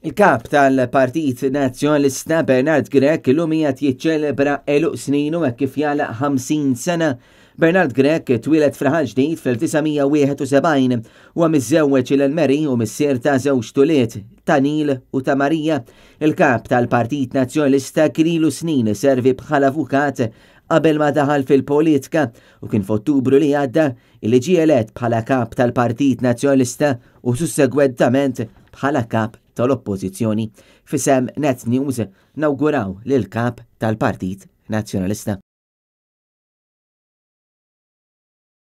Il-Kap tal-Partit Nazzjonalista Bernard Grech illum qiegħed jiċċelebra għeluq sninu hekk kif jagħlaq 50 sena. Bernard Grech twieled f'Raħal Ġdid fl-1971. Huwa miżżewweġ lil Mary u missier ta' żewġt ulied, ta' Neil u ta' Maria. Il-Kap tal-Partit Nazzjonalista kien ilu snin iservi bħala avukat qabel ma daħal fil-politika u kien f'Ottubru li għadda illi ġie elett bħala Kap tal-Partit Nazzjonalista u sussegwentament bħala Kap tal-Oppożizzjoni. F'isem Net News nawguraw lill-Kap tal-Partit Nazzjonalista.